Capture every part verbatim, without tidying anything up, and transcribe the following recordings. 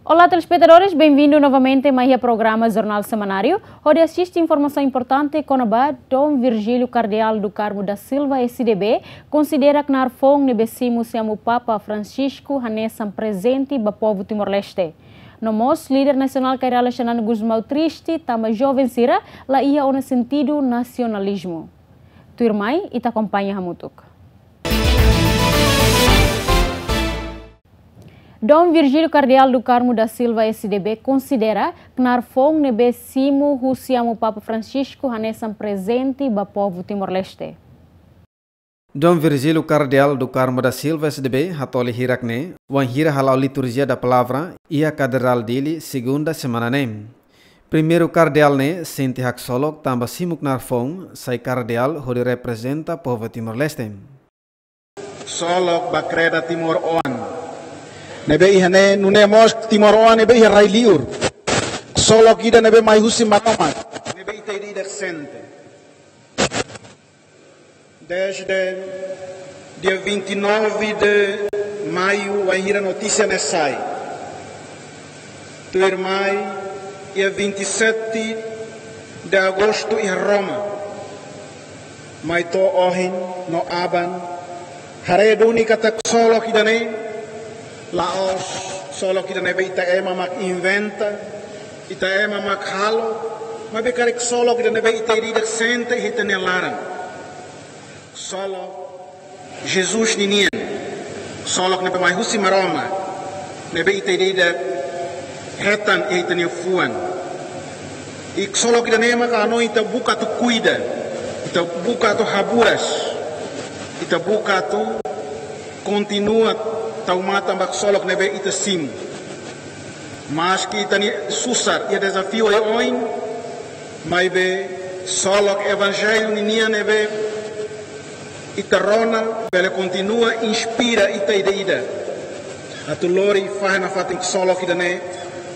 Olá, telespetadores, bem-vindo novamente mai iha programa Jornal Semanáriu, hodi asiste informasaun importante kona-ba Dom Virgílio Kardeál do Carmo da Silva, S D B, konsidera knaar foun ne'ebé simu husi amu Papa Francisco hanesan prezente ba povu Timor-Leste. No mós, líder nasionál Kay Rala Xanana Gusmão triste tanba joven sira la iha ona sentidu nasionalizmu. Tuirmai, ita akompaña hamutuk. Dom Virgílio Kardeál do Carmo da Silva, S D B, konsidera knaar foun ne'ebé simu husi amu Papa Francisco hanesan prezente ba povu Timor-Leste. Dom Virgílio Kardeál do Carmo da Silva, S D B, hatoli hirak ne'e wainhira hala'o Liturgia da Palavra iha Katedrál Dili, segunda semana ne'e. Primeiru Kardeál ne'e sente haksolok tanba simu knaar foun sai Kardeál hodi reprezenta povu Timor-Leste. Ksolok ba kreda timoroan ne'ebé iha ne'e, nune'e mós timoroan ne'ebé iha rai-liur. Ksolok ida ne'ebé mai husi Maromak, ne'ebé ita ida-idak sente. Desde dia vinte e nove de maio, wainhira notísia ne'e sai. Tuirmai, dia vinte e sete de agosto iha Roma. Mai to'o ohin no aban, haree duni katak ksolok ida-ne'e la'ós ksolok ida ne'ebé ita ema mak inventa, ita ema mak halo, maibé karik ksolok ida ne'ebé ita ida-idak sente iha ita-nia laran. Ksolok Jesus ninian, ksolok ne'ebé mai husi Maromak, ne'ebé ita ida-idak hetan iha ita-nia fuan. I ksolok ida-ne'e maka hanoin ita buka atu kuida, ita buka atu haburas, ita buka atu kontinua tau matan ba ksolok ne'ebé ita simu. Maski ita-nia susar iha dezafiu oioin, maibé ksolok Evanjellu ninian ne'ebé ita rona bele kontinua inspira ita ida-idak atu lori fahe nafatin ksolok ida-ne'e,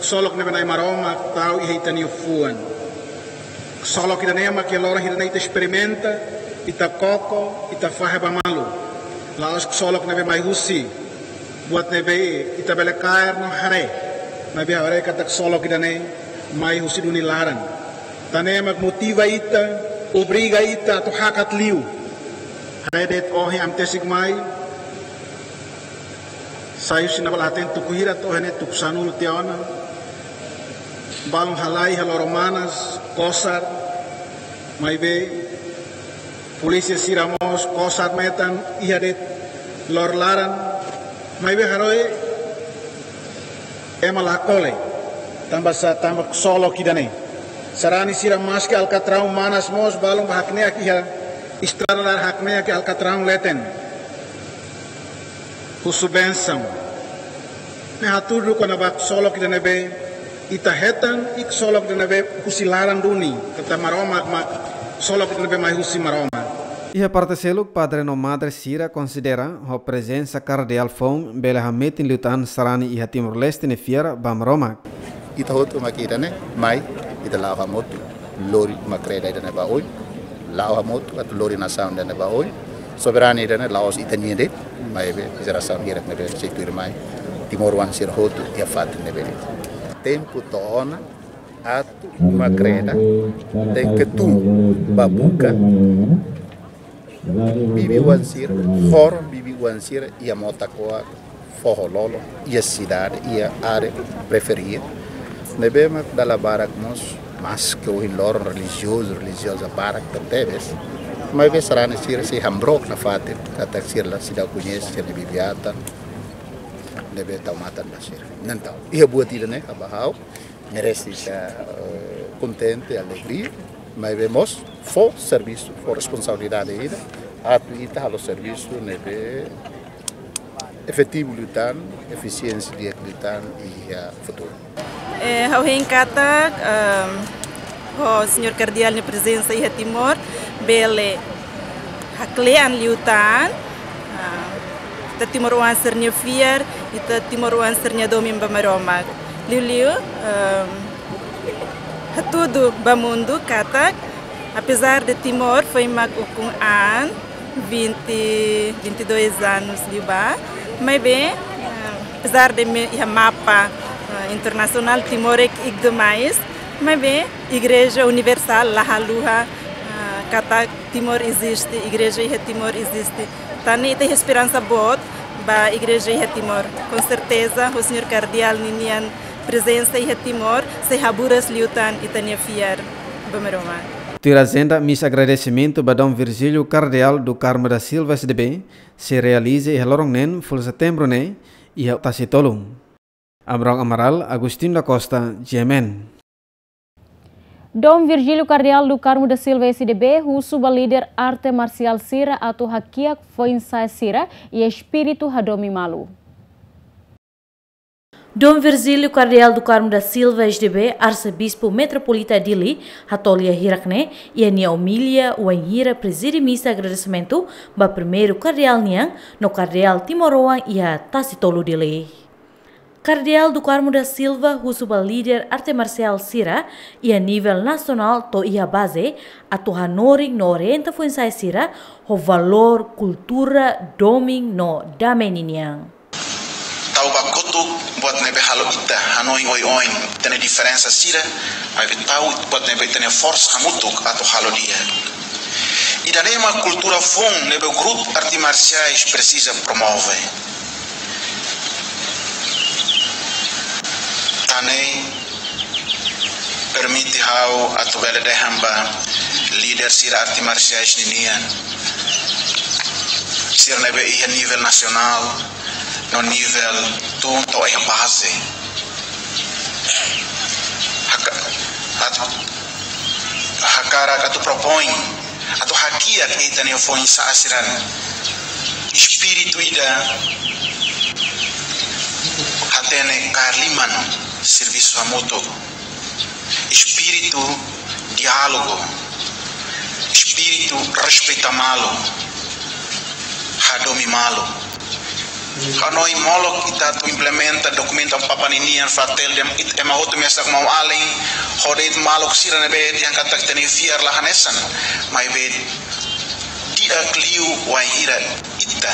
ksolok ne'ebé Na'i Maromak tau iha ita-nia fuan. Ksolok ida-ne'e mak iha loron hirak ne'e ita esperimenta, ita koko, ita fahe ba malu. La'ós ksolok ne'ebé mai husi buat ne'ebé ita bele kaer no haree, maibé haree katak ksolok ida-ne'e mai husi duni laran. Tan ne'e mak motiva ita, obriga ita atu hakat liu. Haree de'it ohin ami tesik mai, sai husi ne'ebá la hatene tuku hira to'o iha ne'e tuku sanulu tiha ona. Balun halai iha Loro Manas, kosar, maibé polísia sira mós kosar metan iha de'it loro laran, maibé haree ema la kole, tanba sá, tanba ksolok ida-ne'e. Sarani sira maski Alkatraun Manas mós balun bá hakne'ak iha estrada laran, hakne'ak iha Alkatraun leten. Husu bensaun. Ne'e hatudu kona-ba ksolok ida ne'ebé ita hetan, i ksolok ida ne'ebé husi laran duni, katak Maromak mak, ksolok ida ne'ebé mai husi Maromak. Iha parte seluk, padre no madre sira konsidera ho prezensa kardeál foun bele hametin liután sarani iha Timor-Leste nia fiar ba Maromak. Ita hotu mak ida-ne'e mai, ita la'o hamutuk lori uma kreda ida-ne'e ba oin, la'o hamutuk atu lori nasaun ida-ne'e ba oin. Soberania ida-ne'e la'ós ita-nian de'it, maibé jerasaun hirak ne'ebé sei tuirmai, timoroan sira hotu iha fatin ne'ebé de'it. Tempu to'o ona atu uma kreda tenke tun ba buka bibi-oan sira, horon bibi-oan sira iha mota koa, foho lolo, iha sidade, iha área periferia. Ne'ebé mak dala barak mós, maski ohin loron relijiozu, relijioza barak tan tebes, maibé sarani sira sei hamrook nafatin, katak sira la, sira la koñese sira-nia bibi-atan ne'ebé tau matan ba sira. Entaun, iha buat ida-ne'e, kaba ha'u, merese ita, eh, kontente, alegria, maibé mós fó servisu, fó responsabilidade ida, atu ita halo servisu ne'ebé efetivu liután, efisiénsia di'ak liután iha futuru. Eh, ha'u hein katak, ehm, ho Señór Kardeál nia prezensa iha Timor, bele haklean liután, ah, ita timoroan sira-nia fiar, ita timoroan sira-nia domin ba Maromak. Liuliu, ehm, hatudu ba mundu katak, apezar de Timor foin mak ukun an, vinte, vinte e dois anos liubá, maibé, eh, apezar de imi iha mapa, eh, Internasionál Timor é ki'ik demais, maibé Igreja Universál la haluha, ah, katak Timor eziste, igreja iha Timor eziste. Tan ne'e ita iha esperansa boot ba igreja iha Timor. Com certeza, ho señór kardeál ninian prezensa iha Timor sei haburas liután ita-nia fiar ba Maromak. Tuir ajenda, misa agradesimentu ba Dom Virgílio Kardeál do Carmo da Silva S D B sei realiza iha loron neen fulan setembru ne'e iha Tasitolu. Abrão Amaral, Agostinho da Costa, G M N. Dom Virgílio Kardeál do Carmo da Silva S D B husu ba líder arte marsiál sira atu hakiak foin-sa'e sira iha espíritu hadomi malu. Dom Virgílio Kardeál do Carmo da Silva S D B, Arsebispu Metropolita Dili, hato'o lia hirak ne'e iha nia omilia wainhira prezide misa agradesimentu ba primeiru kardeál nian no kardeál timoroan iha Tasitolu, Dili. Kardeál do Carmo da Silva husu ba líder arte marsiál sira iha nivel nasionál to'o iha baze atu hanorin no orienta foin-sa'e sira ho valór kultura domin no dame ninian. Tau ba kotuk buat ne'ebé halo ita hanoin oioin ita-nia diferensa sira, maibé tau buat ne'ebé ita-nia forsa hamutuk atu halo di'ak. Ida-ne'e mak kultura foun ne'ebé grupu arte marsiais presiza promove. Tan ne'e permite ha'u atu bele dehan ba líder sira arte marsiais ninian, sira ne'ebé iha nivel nasionál no nivel tun to'o iha baze. Haka-, atu, hakarak atu propoin atu hakiak ita-nia foin-sa'e sira-nia espíritu ida hatene kaer liman, servisu hamutuk, espíritu diálogu, espíritu respeita malu, hadomi malu. Hanoin molok ita atu implementa dokumentu Amu Papa ninian, Fratelli, ita ema hotu mesak maun-alin, hodi maluk sira ne'ebé dehan katak ita-nia fiar la hanesan, maibé di'ak liu wainhira ita,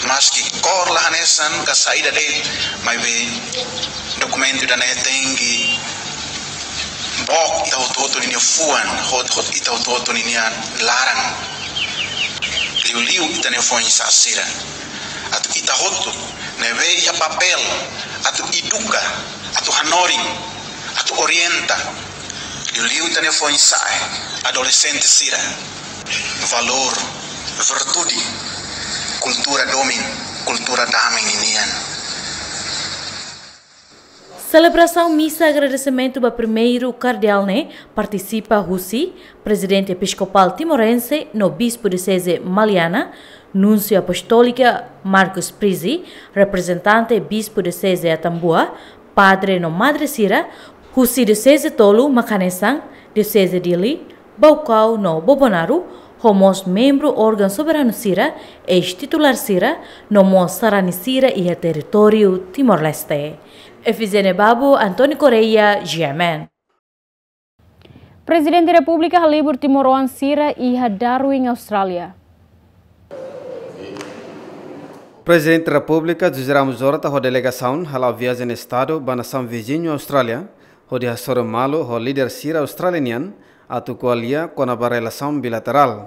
maski kór la hanesan ka saida de'it, maibé dokumentu ida-ne'e tenke book ita hotu-hotu ninia fuan, hot-, hot-, ita hotu-hotu ninia laran. Liuliu ita-nia foin-sa'e sira. Atu ita hotu ne'ebé iha papél atu eduka, atu hanorin, atu orienta. Liuliu ita-nia foin-sa'e, adolexente sira, valór, virtude, kultura domin, kultura dame ninian. Selebrasaun misa agradesimentu ba primeiru kardeál ne'e partisipa husi Prezidente Episkopál Timorense no Bispu Dioseze Maliana, Núnsiu Apostólika Marcus Prizzi, reprezentante Bispu Dioseze Atambua, padre no madre sira husi dioseze tolu mak hanesan Dioseze Dili, Baucau no Bobonaro, ho mós membru órgaun soberanu sira, eis-titulár sira, no mós sarani sira iha territóriu Timor-Leste. Efizene Babu, António Correia, G M N. Prezidente Repúblika halibur timoroan sira iha Darwin, Austrália. Prezidente Repúblika José Ramos Horta ho delegasaun hala'o viajen estadu ba nasaun viziñu Austrália, hodi hasoru malu ho líder sira Austrália nian atu ko'alia kona-ba relasaun bilaterál.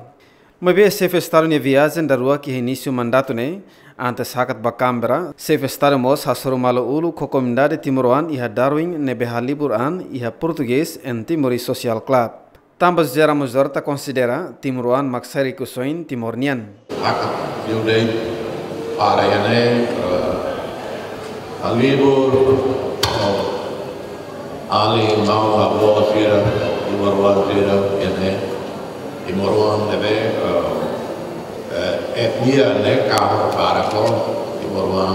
Maibé xefe estadu nia viajen daruak iha inísiu mandatu ne'e, antes hakat ba Canberra, xefe estadu mós hasoru malu uluk ho komunidade timoroan iha Darwin ne'ebé halibur an iha portugés En Timorese Social Club. Tanba José Ramos Horta konsidera timoroan mak sai rikusoin Timor nian. Hakat liu de'it para iha ne'e, eh, halibur, eh, alin, maun, avó sira, timoroan sira iha ne'e, timoroan ne'ebé, eh, eh, etnia ne'e kahur para ho timoroan,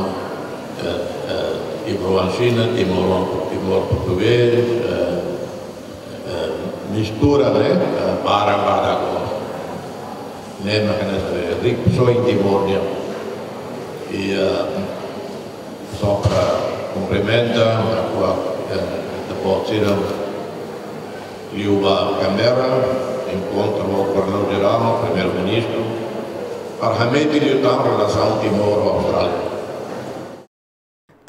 eh, eh, timoroan Xina, timoroan, Timor portugés, eh, eh, mistura, ne'e, eh, barak-barak. Ne'e mak hanesan rikusoin Timor nian. I, eh, só para kumprimenta, agora, eh, depois sira liu ba Canberra, enkontru ho Governadór Jerál, Primeiru-Ministru, para hametin liután relasaun Timor ho Austrália.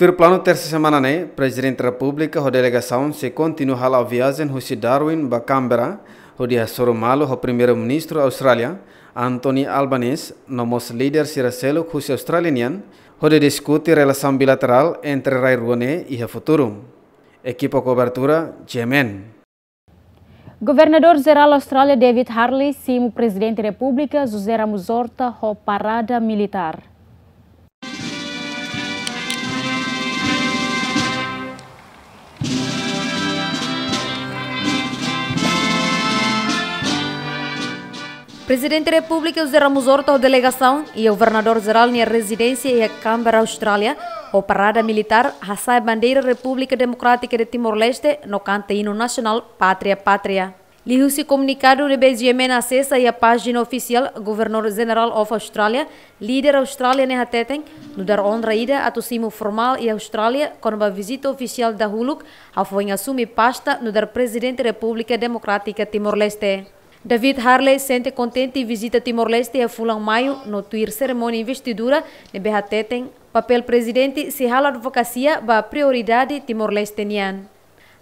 Tuir planu, tersa semana ne'e, Prezidente Repúblika ho delegasaun sei kontinua hala'o viajen husi Darwin ba Canberra, hodi hasoru malu ho Primeiru-Ministru Austrália, Anthony Albanese, no mós líder sira seluk husi Austrália nian, hodi diskute relasaun bilaterál entre rai rua ne'e iha futuru. Ekipa kobertura, G M N. Governadór Jerál Austrália David Harley simu Prezidente Repúblika José Ramos Horta ho parada militár. Prezidente Repúblika José Ramos Horta ho delegasaun iha Governadór Jerál nia rezidénsia iha Canberra, Austrália, ho parada militár, hasa'e bandeira Repúblika Demokrátika de Timor-Leste no kanta inu nasionál Pátria, Pátria. Liuhusi komunikadu ne'ebé G M N asesa iha pájina ofisiál, Governor General of Australia, líder Austrália ne'e hateten, nu'udar onra ida atu simu formál iha Austrália kona-ba vizita ofisiál dahuluk, hafoin asume pasta nu'udar Prezidente Repúblika Demokrátika Timor-Leste. David Harley sente kontente vizita Timor-Leste iha fulan Maiu no tuir serimónia investidura ne'ebé hateten papél Prezidente sei halo advokasia ba prioridade Timor-Leste nian.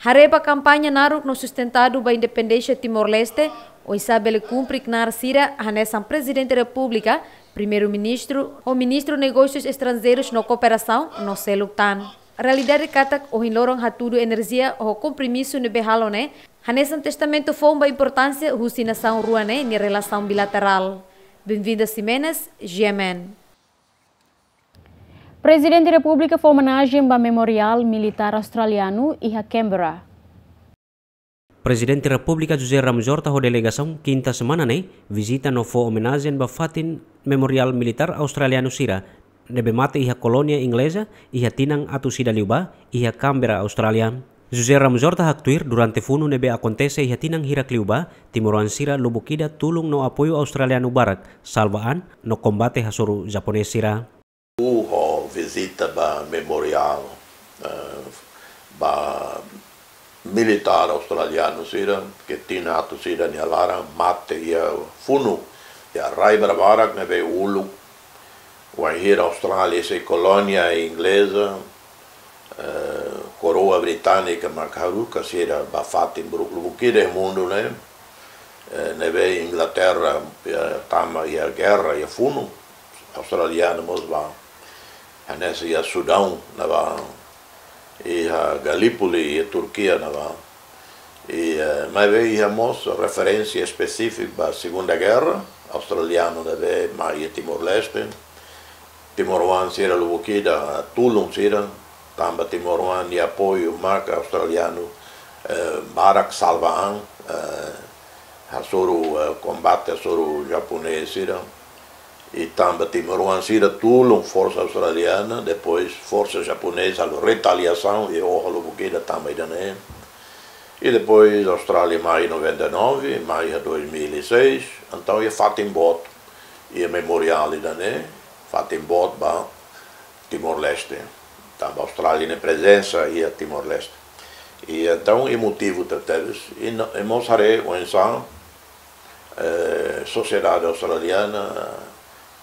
Haree ba kampaña naruk no sustentadu ba independénsia Timor-Leste, oinsá bele kumpre knaar sira hanesan Prezidente Repúblika, Primeiru-Ministru, ho Ministru Negósius Estranjeirus no Kooperasaun, no seluk tan. Realidade katak ohin loron hatudu enerjia ho kompromisu ne'ebé halo ne'e, hanesan testamentu foun ba importánsia husi nasaun rua ne'e nia relasaun bilaterál. Benvinda Ximenes, G M N. Prezidente Repúblika fó omenajen ba Memoriál Militár Australianu iha Canberra. Prezidente Repúblika José Ramos Horta ho delegasaun kinta semana ne'e vizita no fó omenajen ba fatin Memoriál Militár Australianu sira ne'ebé mate iha kolónia ingleza iha tinan atus ida liubá iha Canberra, Austrália. José Ramos Horta haktuir, durante funu ne'ebé akontese iha tinan hirak liubá, timoroan sira lubuk ida tulun no apoiu australianu barak salva an no kombate hasoru japonés sira. Ho vizita ba memoriál, eh, ba militár australianu sira, ke tinan atus ida nia laran mate iha funu, iha rai barak-barak ne'ebé uluk, wainhira Austrália sei kolónia ingleza, eh, koroa británika mak haruka sira ba fatin lubuk ida iha mundu ne'e, eh, ne'ebé Inglaterra, eh, tama iha gerra, iha funu, australianu mós bá. Hanesan iha Sudaun ne'ebá, iha Gallipoli, iha Turkia ne'ebá. I, eh, maibé iha mós referénsia espesífika ba Segunda Gerra, australianu ne'ebé mai iha Timor-Leste. Timoroan sira lubuk ida tulun sira, tanba timoroan nia apoiu maka australianu, eh, barak salva an, eh, hasoru, eh, kombate hasoru japonés sira. I tanba timoroan sira tulun forsa australiana, depois forsa japonesa halo retaliasaun i oho lubuk ida tanba ida-ne'e. I depois Austrália mai noventa e nove, mai iha dois mil e seis, entaun iha fatin boot, iha memoriál ida-ne'e, fatin boot ba Timor-Leste. Tanba Austrália nia prezensa iha Timor-Leste. I entaun emotivu tebetebes, i no, i mós haree oinsá, eh, sosiedade australiana,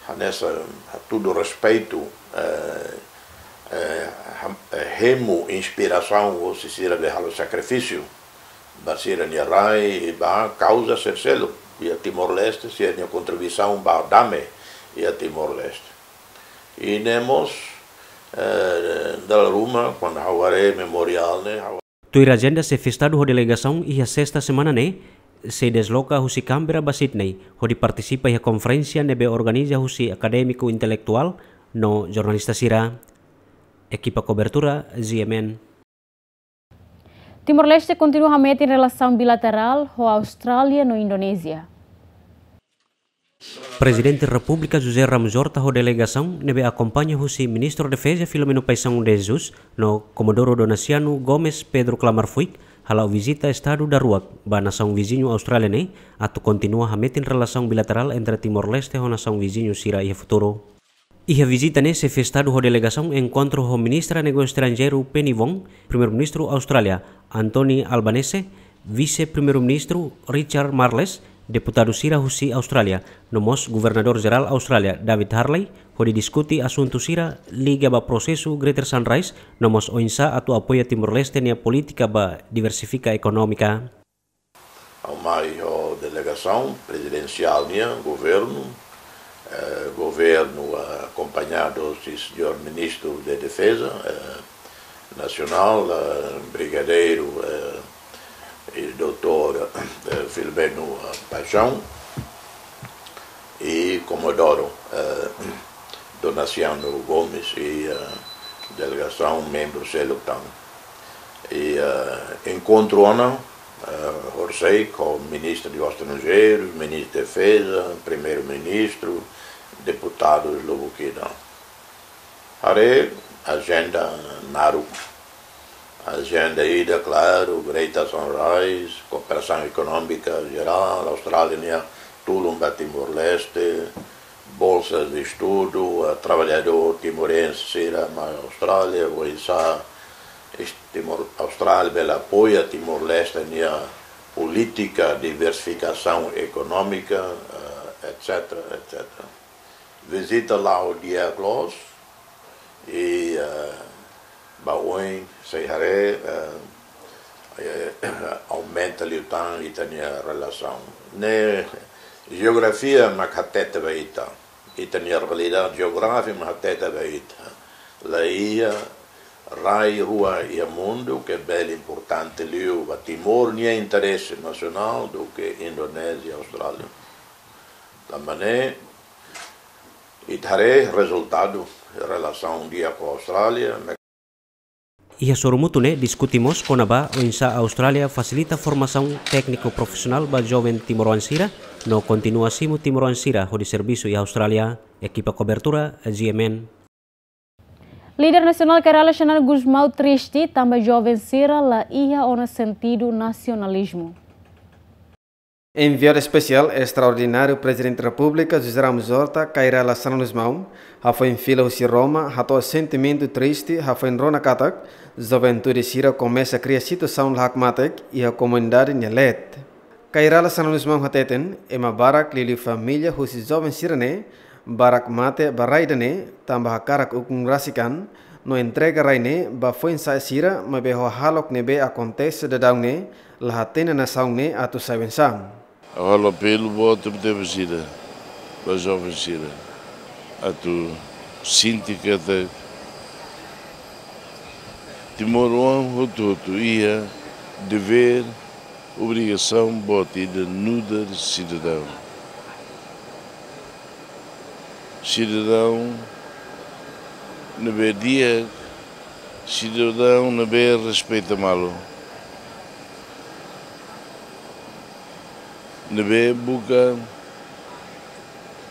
hanesan, hatudu respeitu, eh, eh, ham-, eh, hemu inspirasaun hosi sira ne'ebé halo sakrifísiu ba sira-nia rai, ba kauza sira seluk iha Timor-Leste, sira-nia kontribuisaun ba dame iha Timor-Leste. I ne'e mós, eh, dala ruma, kuandu ha'u haree memoriál ne'e, ha'u Tuir ajenda, xefe Estadu ho delegasaun iha sesta semana ne'e sei desloka husi Canberra ba Sydney, hodi partisipa iha konferénsia ne'ebé organiza husi akadémiku, intelektuál no jornalista sira. Ekipa kobertura, G M N. Timor-Leste kontinua hametin relasaun bilaterál ho Austrália no Indonézia. Prezidente Repúblika José Ramos Horta ho delegasaun ne'ebé akompaña husi Ministru Defeza Filomeno Paixão de Jesus no Komodoru Donaciano Gomes Pedro Klamar Fuik hala'o vizita Estadu daruak ba nasaun viziñu Austrália ne'e atu kontinua hametin relasaun bilaterál entre Timor-Leste ho nasaun viziñu sira iha futuru. Iha vizita ne'e xefe Estadu ho delegasaun enkontru ho Ministra Negósiu Estranjeiru Penny Wong, Primeiru-Ministru Austrália Anthony Albanese, Vise-Primeiru-Ministru Richard Marles, Deputadu sira husi Austrália, no mós Governadór Jerál Austrália, David Harley, hodi diskute asuntu sira liga ba prosesu Greater Sunrise, no mós oinsá atu apoia Timor-Leste nia polítika ba diversifika ekonómika. Ha'u mai ho delegasaun prezidensiál nian, governu, eh, governu, eh, akompañadu husi señór Ministru de Defeza, eh, Nasionál, eh, Brigadeiru, eh, i doutór, eh, Filomeno, eh, Paixão, i Komodoro, eh, Donaciano Gomes, i, eh, delegasaun membru seluk tan. I, eh, enkontru ona, eh, horisehik ho Ministru Negósius Estranjeirus, Ministru Defeza, Primeiru-Ministru, deputadus lubuk ida. Haree ajenda naruk. Ajenda ida, klaru, Greater Sunrise, kooperasaun ekonómika jerál, Austrália nia tulun ba Timor-Leste, bolsas de estudu, eh, traballadór timorense sira mai Austrália, oinsá es-, Timor, Austrália bele apoia Timor-Leste nia polítika diversifikasaun ekonómika, eh, et cetera, et cetera. Vizita la'o di'ak loos, i, eh, ba oin sei haree, eh, eh, aumenta liután ita-nia relasaun. Ne'e jeografia mak hatete ba ita. Ita-nia realidade jeográfika mak hatete ba ita. La iha rai rua iha mundu ke bele importante liu ba Timor nia interese nasionál duké Indonézia, Austrália. Tanba ne'e, ita haree rezultadu relasaun di'ak ho Austrália. Iha sorumutu ne'e diskute mós kona-ba oinsá Austrália fasilita formasaun tékniku profisionál ba joven timoroan sira, no kontinua simu timoroan sira hodi servisu iha Austrália. Ekipa kobertura, G M N. Líder nasionál Kay Rala Xanana Gusmão triste tanba joven sira la iha ona sentidu nasionalizmu. Enviadu Espesiál Estraordináriu Prezidente Repúblika José Ramos Horta, Kay Rala Xanana Gusmão, hafoin fila husi Roma, hato'o sentimentu triste, hafoin rona katak juventude sira komesa kria situasaun la hakmatek iha komunidade nia leet. Kay Rala Xanana Gusmão hateten, ema barak liuliu família husi joven sira-ne'e, barak mate ba rai ida-ne'e, tanba hakarak ukun rasik an, no entrega rai ne'e ba foin-sa'e sira, maibé ho hahalok ne'ebé akontese daudaun ne'e, la hatene nasaun ne'e atu sai oinsá. Ha'u halo apelu boot ida ba sira, ba joven sira, atu sente katak timoroan hotu-hotu iha devér, obrigasaun boot ida nu'udar sidadaun. Sidadaun ne'ebé di'ak, sidadaun ne'ebé respeita malu. Ne'ebé buka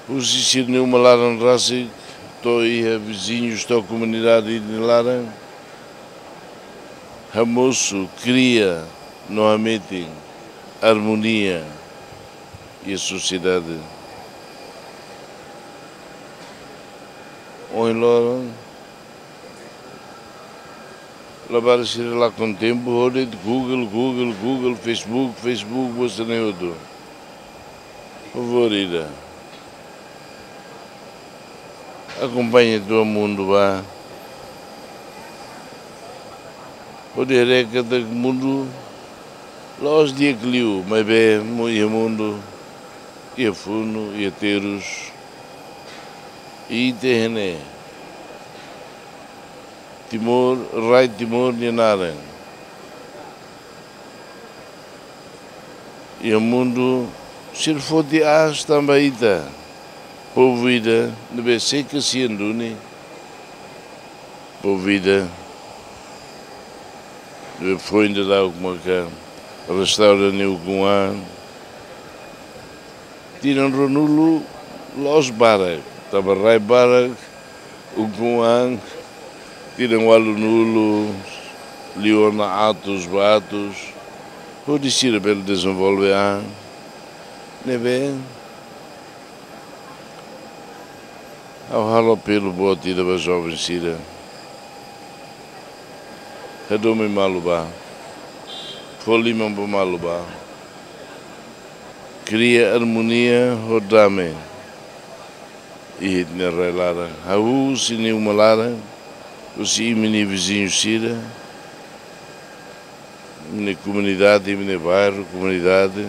husi sira-nia uma laran rasik to'o iha viziñus to'o komunidade nia laran, hamosu, kria no hametin armonia iha sosiedade. Ohin loron, labarik sira lakon tempu hodi Google, Google, Google, Facebook, Facebook, buat sira-ne'e hotu. Favór ida. Akompaña to'o mundu ba. Hodi haree katak mundu la'ós di'ak liu, maibé mu-, iha mundu, iha funu, iha terus. I ita iha ne'e. Timor, rai Timor nia naran. Iha mundu, sira foti aas tanba ita. Povu ida ne'ebé sei kasian duni. Povu ida ne'ebé foin daudauk maka restaura nia ukun-an. Tinan ruanulu la'ós barak, tanba rai barak, ukun-an, tinan ualunulu, liu ona atus ba atus, hodi sira bele dezenvolve an. Ne'ebé, ha'u halo apelu boot ida ba joven sira. Hadomi malu ba. Fó liman ba malu ba. Kria armonia ho dame iha ita-nia rai laran. Hahú husi ita-nia uma laran, husi ita-nia viziñu sira, ita-nia komunidade, ita-nia bairru, komunidade.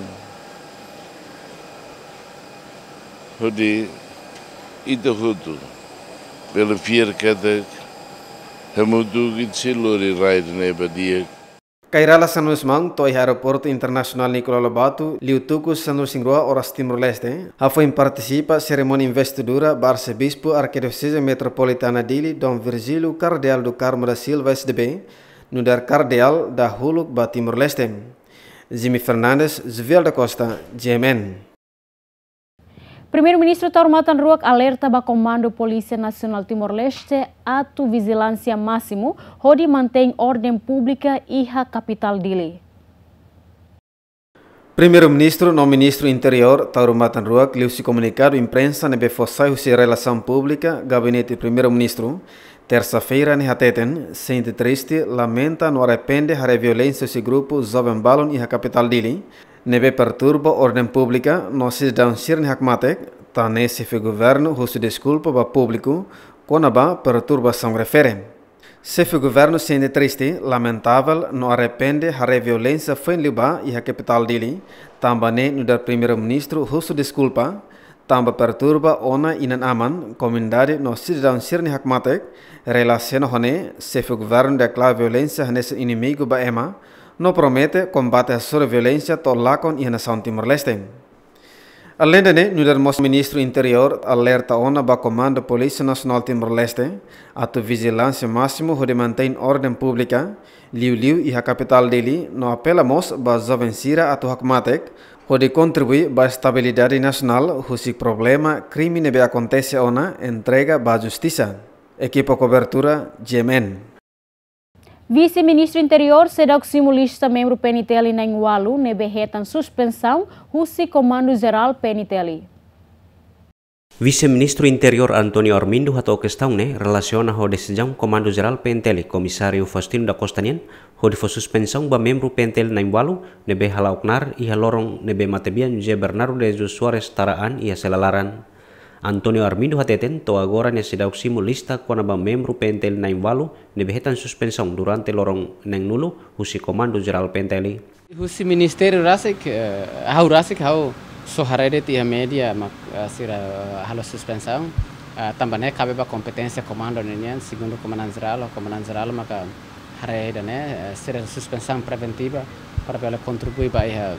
Hodi ita hotu bele fiar katak hamutuk ita sei lori rai ida-ne'e ba di'ak. Kay Rala Xanana Gusmão to'o iha Aeroportu Internasionál Nicolau Lobato, liu tuku sanulu-resin-rua oras Timor-Leste, hafoin partisipa serimónia investidura ba Arsebispu Arkidioseze Metropolitana Dili, Dom Virgílio Kardeál do Carmo da Silva, S D B, nu'udar Kardeál dahuluk ba Timor-Leste. Jimmy Fernandes, Juvial da Costa, G M N. Primeiru-Ministru Taur Matan Ruak alerta ba Komandu Polísia Nasionál Timor-Leste atu vijilánsia másimu hodi mantein orden públika iha kapitál Dili. Primeiru-Ministru no Ministru Interiór Taur Matan Ruak liuhusi komunikadu imprensa ne'ebé fó sai husi Relasaun Públika Gabinete Primeiru-Ministru, tersa-feira ne'e hateten sente triste, lamenta no arrepende haree violénsia husi grupu joven balun iha kapitál Dili, ne'ebé perturba orden públika no sidadaun sira-nia hakmatek, tan ne'e Xefe Governu husu deskulpa ba públiku kona-ba perturbasaun refere. Xefe Governu sente triste, lamentavel no arrepende haree violénsia foin liubá iha kapitál Dili, tanba ne'e nu'udar Primeiru-Ministru husu deskulpa, tanba perturba ona inan-aman, komunidade no sidadaun sira-nia hakmatek. Relasiona ho ne'e, Xefe Governu deklara violénsia hanesan inimigu ba ema, no promete kombate hasoru violénsia to'o lakon iha nasaun Timor-Leste. Aleinde ne'e, nu'udar mós Ministru Interiór alerta ona ba Komandu Polísia Nasionál Timor-Leste atu vijilánsia másimu hodi mantein orden públika, liuliu iha kapitál Dili, no apela mós ba joven sira atu hakmatek hodi kontribui ba estabilidade nasionál husi problema krime ne'ebé akontese ona entrega ba justisa. Ekipa kobertura, G M N. Vise-Ministru Interiór seidauk simu lista membru P N T L na'in-ualu ne'ebé hetan suspensaun husi Komandu Jerál P N T L. Vise-Ministru Interiór António Armindo hato'o kestaun ne'e relasiona ho desizaun Komandu Jerál P N T L, Komisáriu Faustino da Costa nian, hodi fó suspensaun ba membru P N T L na'in-ualu ne'ebé hala'o knaar iha loron ne'ebé matebian José Bernardo de Jesus Soares tara an iha sela laran. António Armindo hateten to'o agora nia seidauk simu lista kona-ba membru P N T L na'in-ualu ne'ebé hetan suspensaun durante loron neen-nulu husi Komandu Jerál P N T L. Husi ministériu rasik, eh, ha'u rasik, ha'u só haree de'it iha média mak, eh, sira, eh, halo suspensaun. Eh, tanba ne'e kabe ba kompeténsia komandu ninian, segundu komandante jerál, komandante jerál maka haree ida-ne'e, eh, sira suspensaun preventiva para bele kontribui ba iha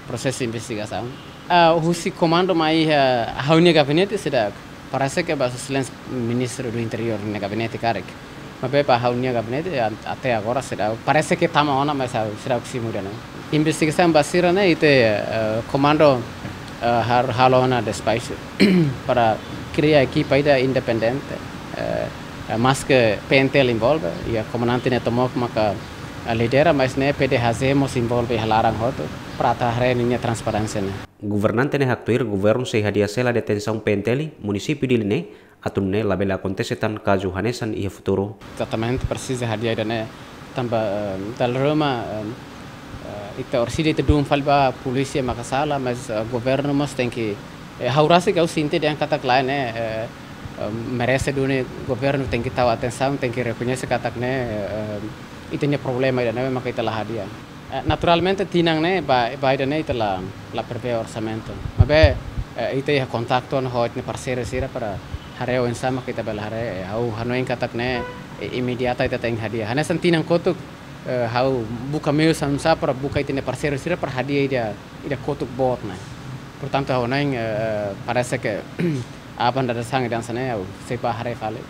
prosesu investigasaun. Ah, husi komandu mai iha ha'u-nia gabinete seidauk, parese ke ba Sua Exelénsia Ministru do Interiór nia gabinete karik. Maibé ba ha'u-nia gabinete, a-, até agora seidauk, parese ke tama ona, mas ha'u seidauk simu ida-ne'e. Investigasaun ba sira-ne'e ita, eh, komandu, eh, har-, halo ona despaxu para kria ekipa ida independente, eh, eh, maske P N T L envolve, iha komandante ne'e tomak maka, eh, lidera, mas ne'e P D H J mós envolve iha laran hotu, para atu haree ninia transparénsia ne'e. Governante ne'e haktuir governu sei hadi'a sela detensaun P N T L munisípiu Dili ne'e, atu nune'e labele akontese tan kazu hanesan iha futuru. Ezatamente presiza hadi'a ida-ne'e tanba, eh, dala ruma, eh, eh, ita orsida ita dún fali ba polísia maka sala, mas, eh, governu mós tenke, eh, ha'u rasik ha'u sente dehan katak lae ne'e, eh, eh, merese duni governu tenke tau atensaun, tenke rekoñese katak ne'e, eh, ita-nia problema ida-ne'e maka ita la hadi'a. Eh, naturalmente tinan ne'e ba, ba ida-ne'e ita la, la prevee orsamentu. Maibé, eh, ita iha kontaktu ona ho ita-nia parseiru sira para haree oinsá maka ita bele haree, eh, ha'u hanoin katak ne'e, eh, imediata ita tenke hadi'a. Hanesan tinan kotuk, eh, ha'u buka meius oinsá para buka ita-nia parseiru sira para hadi'a ida, ida kotuk boot ne'e. Portantu ha'u hanoin, eh, parese ke aban dadeer-saan ida hanesan ne'e ha'u sei bá haree fali.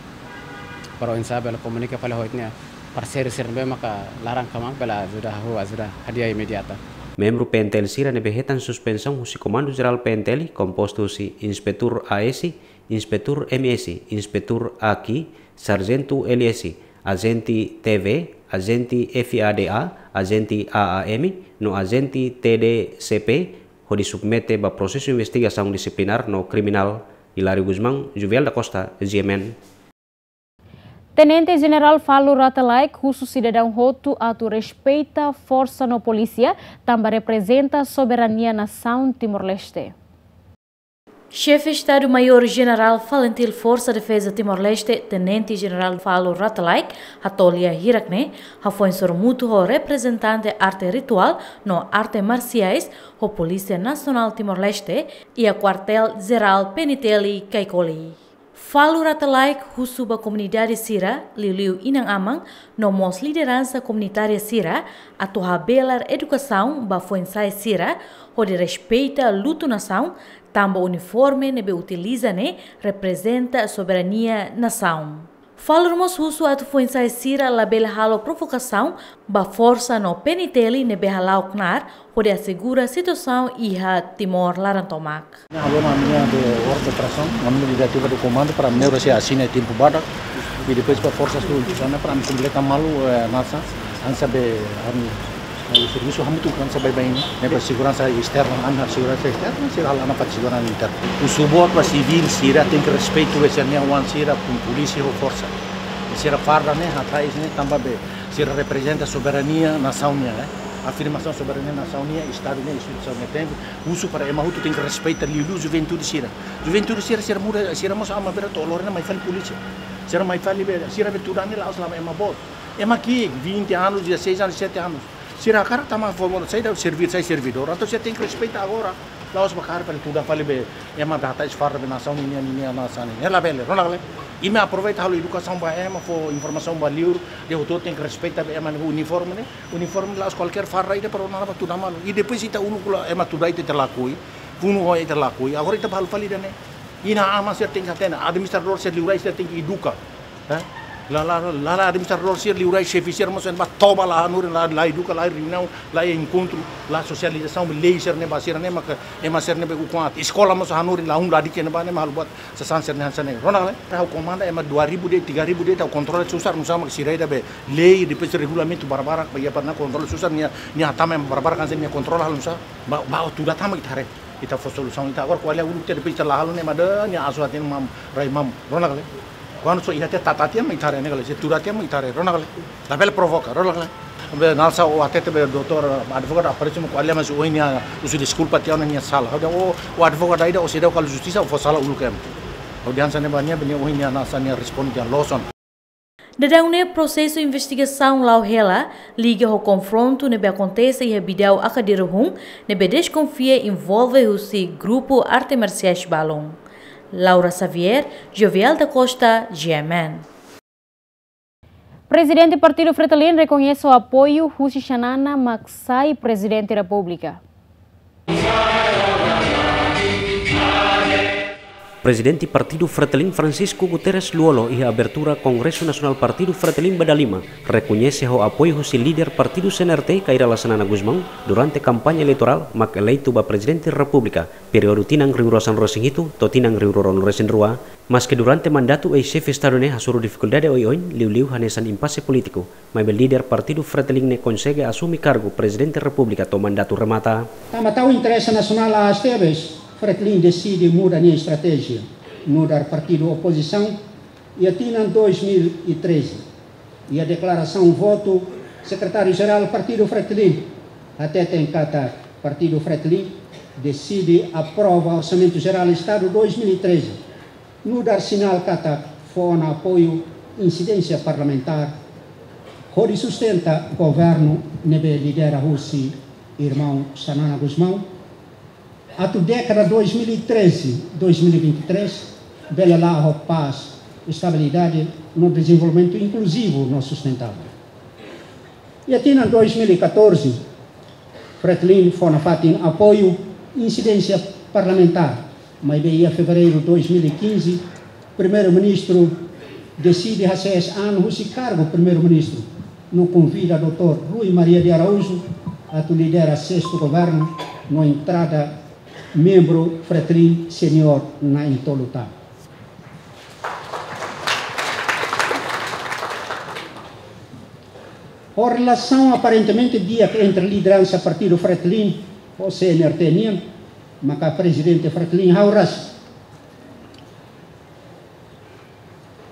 Para oinsá bele komunika fali ho ita-nia parseiru sira ne'ebé maka laran kmaan bele ajuda ha'u ajuda hadi'a imediata. Membru P N T L sira ne'ebé hetan suspensaun husi Komandu Jerál P N T L kompostu husi Inspetór A S, Inspetór M S, Inspetór A Q, Sarjentu L S, Ajente T V, Ajente F A D A, Ajente A A M, no Ajente T D C P, hodi submete ba prosesu investigasaun disiplinár no kriminál. Hilário Gusmão, Juvial da Costa, G M N. Tenente Jenerál Falur Rate Laek husu sidadaun hotu atu respeita forsa no polísia, tanba reprezenta soberania nasaun Timor-Leste. Xefe Estadu Maiór Jenerál Falintil Forsa Defeza Timor-Leste, Tenente Jenerál Falur Rate Laek, hato'o lia hirak-ne'e, hafoin sorumutu ho reprezentante arte rituál no arte marsiais ho Polísia Nasionál Timor-Leste iha Kuartél Jerál P N T L Caicoli. Falur Rate Laek husu ba komunidade sira, liuliu inan-aman, no mós lideransa komunitária sira, atu habelar edukasaun ba foin-sa'e sira, hodi respeita lutu nasaun, tanba uniforme ne'ebé utiliza ne'e reprezenta soberania nasaun. Falur mós husu atu foin-sa'e sira labele halo provokasaun ba forsa no P N T L ne'ebé hala'o knaar, hodi asegura situasaun iha Timor laran tomak. Halo ami-nia de orde operasaun, ami-nia diretiva de komandu para ami-nia asina tempu badak, i depois para forsa tu sana para ami kompleta malu, eh, nasa, hanesan be ami, eh, servisu hamutuk hanesan baibain, ne'e ba seguransa esterna, ami halo seguransa esterna, sira halo ona ba seguransa interna. Husu boot ba sivil sira tenke respeitu ba sira-nia oan sira ho polísia ho forsa. Sira farda ne'e, hatais ne'e, tanba be sira reprezenta soberania nasaun nian, eh. Afirmasaun soberania nasaun nian, Estadu nian, instituisaun nian, tenke husu para ema hotu tenke respeita, liuliu juventude sira. Juventude sira, sira muda, sira mós ama bera to'o lorena mai fali polísia. Sira mai fali be, sira be tudan ne'e la'ós la'o ema boot. Ema ki'ik, vinte anos, dezasseis anos, dezessete anos. Sira hakarak tama forma, sai da servi-, sai servidór. Entaun sira tenke respeita agora. La'ós ba hakarak fali tudan fali be ema be hatais farda be nasaun nian, nian, nian, nasaun nian. Ne'e labele, rona labele. Imi aproveita halo edukasaun ba ema, fó informasaun ba liur, de'it hotu tenke respeita be ema nia uniforme ne'e. Uniforme la'ós kualkér farda ida para ona ba tudan malu. I depois ita uluk la ema tuda ita, ita lakohi, funu ho ita lakohi. Agora ita ba halo fali ida-ne'e. Inan-aman sira tenke hatene, administradór sira liurai sira tenke eduka. Eh? La, la, la, la administradór sira liurai xefe sira mós ba toba la hanorin, la, la eduka, la reuniaun, la enkontru, la sosializasaun, lei sira-ne'e ba sira-ne'e maka ema sira-ne'e be ukun aat. Eskola mós hanorin, la hun ladík ne'ebá ne'e mak halo buat sasán sira-ne'e hanesan ne'e. Rona labele, ha'u komanda ema dua ribu de'it, tiga ribu de'it, ha'u kontrola susar, nusá mak sira ida be lei, depois regulamentu barbarak, ba iha para nia kontrola susar, nia, nia hatama ema barbarak hanesan nia kontrola halo nusá, ba, ba tuda tama ita haree. Ita fó solusaun, ita agora ko'alia uluk tiha depois ita la halo ne'e mak nia asu hatin mam, rai mam, rona labele. Kuandu só iha tiha tata tiha mak ita haree ne'e kala, se tuda tiha mak ita haree, rona labele. Labele provoka, rona labele. Be nalsa o hatete be doutór, advogadu aparese mak ko'alia mas ohin nia husu deskulpa tiha ona nia sala. Ha'u dehan o, o advogadu ida o seidauk halo justisa o fó sala uluk ema. Ha'u dehan hanesan ne'e ba nia, be nia ohin nia nasa nia responde dehan loos ona. Daudaun ne'e prosesu investigasaun la'o hela, liga ho konfrontu ne'ebé akontese iha Bidau Akadiruhun, ne'ebé deskonfia envolve husi grupu arte marsiais balun. Laura Xavier, Jovial da Costa, G M N. Prezidente Partidu Fretilin rekoñese ho apoiu husi Xanana mak sai Prezidente Repúblika. Prezidente Partidu Fretilin Francisco Guterres Lú-Olo iha abertura Kongresu Nasionál Partidu Fretilin ba dalima, rekoñese ho apoiu husi líder partidu C N R T Kay Rala Xanana Gusmão durante kampaña eleitorál mak eleitu ba Prezidente Repúblika, períodu tinan rihun rua sanulu-resin-hitu to'o tinan rihun rua ruanulu-resin-rua, maske durante mandatu eis-xefe Estadu ne'e hasoru difikuldade oioin, liuliu hanesan impase polítiku, maibé líder Partidu Fretilin ne'e konsege asume kargu Prezidente Repúblika to'o mandatu remata. Tanba tau interese nasionál aas tebes, Fretilin deside muda nia estratéjia, nu'udar partidu opozisaun, iha tinan dois mil e treze. Iha deklarasaun votu, Sekretáriu-Jerál Partidu Fretilin hateten katak Partidu Fretilin deside aprova Orsamentu Jerál Estadu dois mil e treze, nu'udar sinál katak fó ona apoiu insidénsia parlamentár hodi sustenta governu ne'ebé lidera husi irmaun Xanana Gusmão, atu dékada dois mil e treze, dois mil e vinte e três, bele la'o ho pás, estabilidade no dezenvolvimentu inkluzivu no sustentável. Iha tinan dois mil e catorze, Fretilin fó nafatin apoiu insidénsia parlamentár, maibé iha fevereiru dois mil e quinze, Primeiru-Ministru deside hasees an husi kargu Primeiru-Ministru, no konvida doutór Rui Maria de Araújo atu lidera sestu governu, no entrada membru Fretilin seniór na'in-tolu tan. Ho relasaun aparentemente di'ak entre lideransa Partidu Fretilin ho C N R T nian, maka Prezidente Fretilin hau ras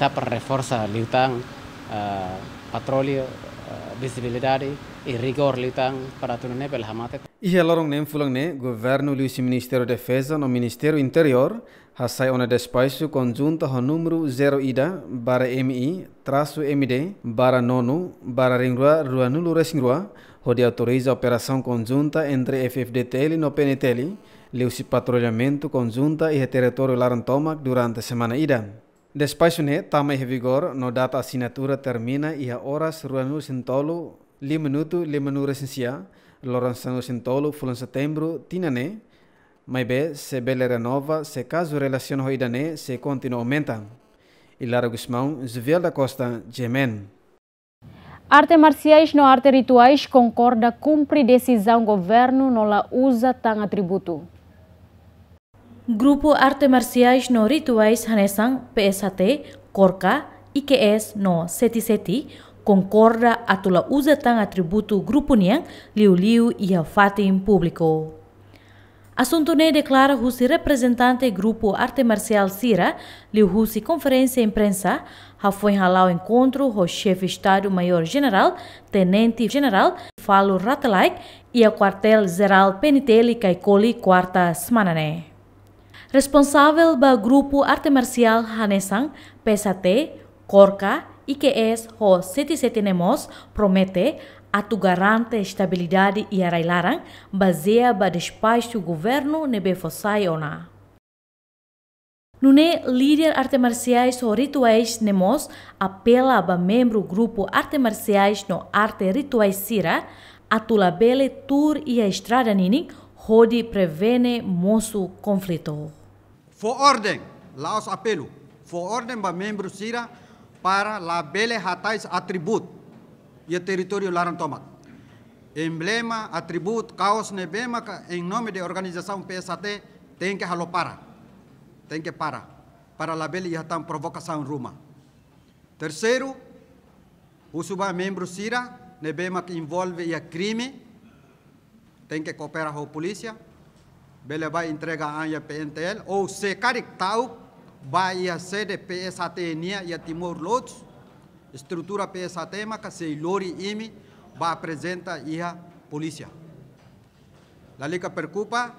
SAPR reforsa liután, ah, patrullu, ah, vizibilidade i rigór liután para atu nune'e bele hamate. Iha loron neen fulan ne'e, governu liuhusi Ministériu Defeza no Ministériu Interiór hasai ona despaxu konjunta ho númeru zero ida barra M I trasu M D barra nonu barra rihun rua ruanulu resin rua, hodi autoriza operasaun konjunta entre F-FDTL no P N T L, liuhusi patrullamentu konjunta iha territóriu laran tomak durante semana ida. Despaxu ne'e tama iha vigór no data asinatura termina iha oras ruanulu resin tolu, lima minutu limanulu resin sia, loron sanulu resin tolu fulan Setembru tinan ne'e, maibé sei bele renova se kazu relasiona ho ida-ne'e sei kontinua aumenta. Hilário Gusmão, Juviel da Costa, G M N. Arte marsiais no arte rituais konkorda kumpre desizaun governu no la uza tan atributu. Grupu arte marsiais no rituais hanesan P S H T, KORKA, I Q S no Seti Seti konkorda atu la uza tan atributu grupu nian liuliu iha fatin públiku. Asuntu ne'e deklara husi reprezentante grupu arte marsiál sira, liuhusi konferénsia imprensa, hafoin hala'o enkontru ho Xefe Estadu Maiór Jenerál, Tenente Jenerál Falo Rate Laek, iha Kuartél Jerál P N T L Caicoli, kuarta semana ne'e. Responsavel ba grupu arte marsiál hanesan P S H T, KORKA, I Q S ho Seti Seti ne'e mós promete atu garante estabilidade iha rai-laran, bazeia ba despaxu governu ne'ebé fó sai ona. Nune'e líder arte marsiais ho rituais ne'e mós apela ba membru grupu arte marsiais no arte rituais sira atu labele tuur iha estrada ninin hodi prevene mosu konflitu. Fó orden, la'ós apelu. fó orden ba membru sira para labele hatais atributu iha territóriu laran tomak. Emblema, atributu, kaos ne'ebé maka em nome de organizasaun P S H T tenke halo para. Tenke para. Para labele iha tan provokasaun ruma. Terseiru, husu ba membru sira ne'ebé maka envolve iha krime, tenke koopera ho polísia, bele bá entrega an iha P N T L, ou se karik ta'uk bá iha sede P S H T nian iha Timor Leste, estrutura P S H T maka sei lori imi bá aprezenta iha polísia. Lalika preokupa,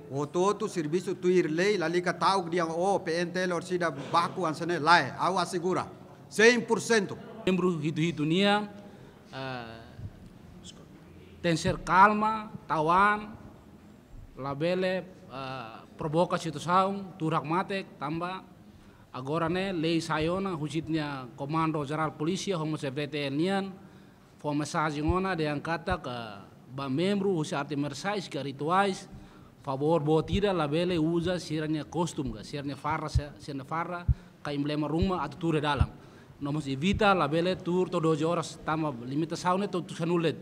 hotu-hotu servisu tuir lei, lalika ta'uk dehan o P N T L orsida baku hanesan ne'e, lae, ha'u asegura cem por cento. Membru hitu-hitu nian, eh, tenke ser kalma, tau an, labele, eh, provoka situasaun, tuur hakmatek, tanba agora ne'e lei sai ona, husi ita-nia Komandu Jerál Polísia, ho mós F-FDTL nian, fó mensajen ona dehan katak ba membru husi arte marsiais ka rituais, favór boot ida labele uza sira-nia kostum ka, sira-nia farda, sira-nia farda ka emblema ruma atu tuur iha dalan. No mós evita labele tuur to'o doze horas tanba limitasaun ne'e to'o tusan ulet.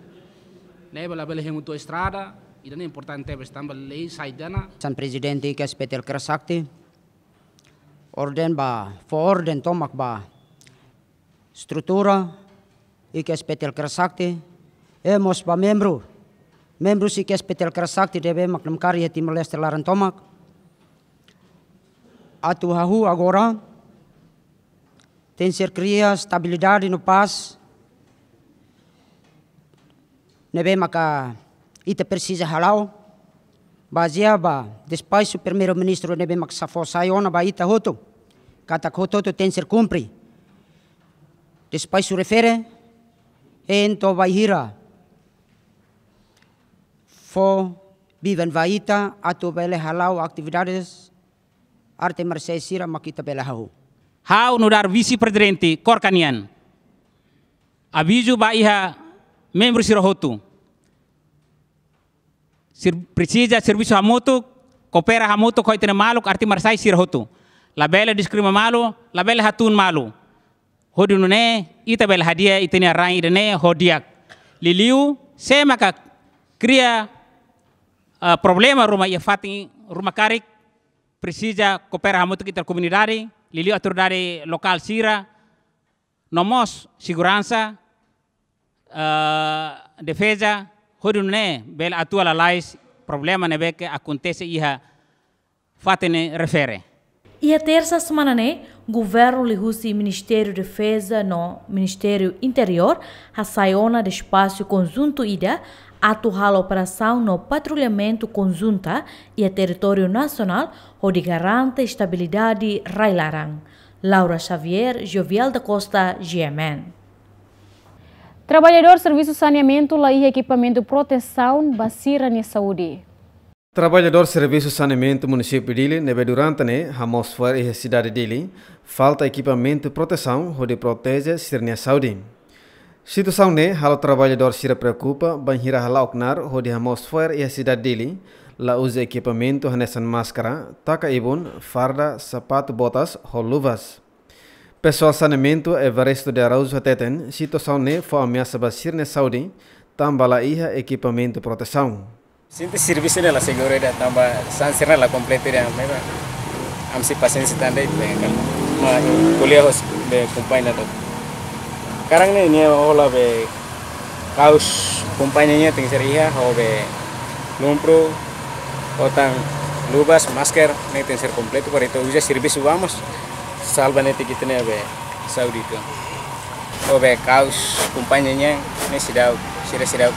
Ne'ebé labele hemu to'o estrada, ida-ne'e importante tebes tanba lei sai tiha ona. Hanesan Prezidente I K S P T L Kera Sakti, orden ba, fó orden tomak ba estrutura I K S P T L Kera Sakti, i mós ba membru, membru husi I K S P T L Kera Sakti ne'ebé mak namkari iha Timor-Leste laran tomak. Atu hahú agora, tenke ser kria estabilidade no pás ne'ebé maka ita presiza hala'o, bazeia ba despaxu Primeiru-Ministru ne'ebé maka sa fó sai ona ba ita hotu, katak hotu-hotu tenke ser kumpre despaxu refere, entaun bainhira fó biban ba ita atu bele hala'o atividades arte marsiais sira mak ita bele hahú. Ha'u nu'udar Vise-Prezidente KORKA nian, avizu ba iha membru sira hotu. Sir-, presiza servisu hamutuk, koopera hamutuk ho ita-nia maluk arte marsiais sira hotu. Labele diskrimina malu, labele hatún malu. Hodi nune'e ita bele hadi'a ita-nia rain ida-ne'e ho di'ak. Liuliu, sé maka kria, eh, problema ruma iha fatin ruma karik, presiza koopera hamutuk ho ita-nia komunidade, liuliu autoridade lokál sira, no mós seguransa, eh, defeza, hodi nune'e bele atua lalais problema ne'ebé ke akontese iha fatin ne'e refere. Iha tersa semana ne'e, governu liuhusi Ministériu Defeza no Ministériu Interiór hasai ona despaxu konjuntu ida atu halo operasaun no patrullamentu konjunta iha territóriu nasionál hodi garante estabilidade rai-laran. Laura Xavier, Jovial da Costa, G M N. Traballadór servisu saneamentu la iha ekipamentu protesaun ba sira-nia saúde. Traballadór servisu saneamentu munisípiu Dili ne'ebé durante ne'e hamoos fo'er iha sidade Dili, falta ekipamentu protesaun hodi proteje sira-nia saúde. Situasaun ne'e halo traballadór sira preokupa, bainhira hala'o knaar hodi hamoos fo'er iha sidade Dili, la uza ekipamentu hanesan máskara, taka-ibun, farda, sapatu, botas, ho luvas. Pesoál saneamentu Evaristo de Araújo hateten, situasaun ne'e fó ameasa ba sira-nia saúde, tanba la iha ekipamentu protesaun. Sente servisu ne'e la seguru ida, tanba sasán sira-ne'e la kompletu ida, maibé ami sei pasiénsia tan de'it, be, kan, ma ko'alia ho, be, kompañia ida. Karang ne'e nia hola, be, kaus kompañia nian tenke ser iha, ho, be, lumpur, ho tan luvas, masker, ne'e tenke ser kompletu, para ita uza servisu ba mós salva netik ita-nia, be, saúde ita. Ho, be, kaus kompañia nian ne'e seidauk, sira seidauk.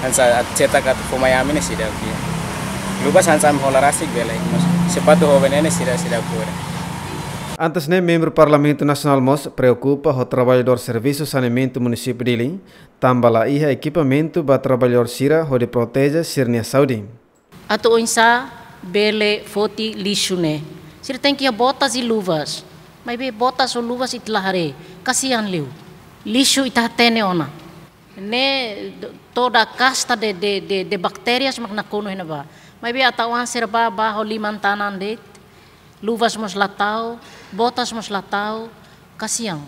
Hanesan atu cetak atu fó mai ami ne'e seidauk, ya. Luvas hanesan ami hola rasik bele, mas sapatu ho be ne'e ne'e sira seidauk fora. Antes ne'e, membru Parlamentu Nasionál mós preokupa ho traballadór servisu saneamentu munisípiu Dili, tanba la iha ekipamentu ba traballadór sira hodi proteje sira-nia saúde. Atu oinsá bele foti lixu ne'e? Sira tenke iha botas i luvas. Maibé botas ho luvas ita la haree. Kasian liu. Lixu ita hatene ona. Ne'e do-, toda kasta de, de, de, de baktérias mak nakonu iha ne'ebá. Maibé atu oan sira bá, bá ho liman-tanan de'it. Luvas mós la tau, Botas mós la tau, kasian.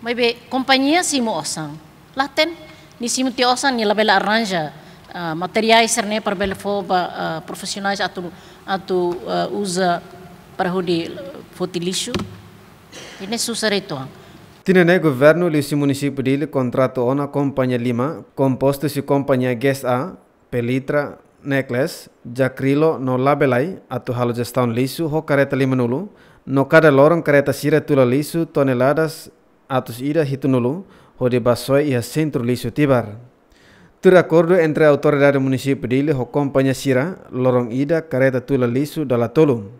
Maibé kompañia simu osan. La hatene, nia simu tiha osan, nia labele arranja, ah, materiál sira-ne'e para bele fó ba, ah, profisionais atu, atu, ah, uza para hodi foti lixu. Ne'e susar uitoan. Tinan ne'e governu liuhusi munisípiu Dili kontratu ona kompañia lima, kompostu husi kompañia Guest A, Pelitra, Necklace, Jakrilo no Labelai atu halo jestaun lixu ho karreta lima-nulu, no kada loron karreta sira tula lixu toneladas atus ida hitunulu, hodi bá soe iha sentru lixu Tibar. Tuir akordu entre Autoridade Munisípiu Dili ho kompañia sira, loron ida karreta tula lixu dala tolu.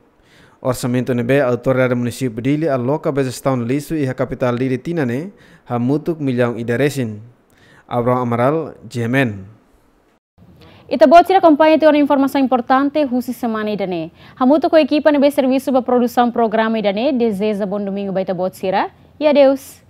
Orsamentu ne'ebé Autoridade Munisípiu Dili aloka ba jestaun lixu iha kapitál Dili tinan ne'e, hamutuk millaun ida resin. Abraham Amaral, G M N. Ita-boot sira, akompaña tiha ona informasaun importante husi semana ida-ne'e. Hamutuk ho ekipa ne'ebé servisu ba produsaun programa ida-ne'e, dezeja bom domingo ba ita-boot sira, i adeus.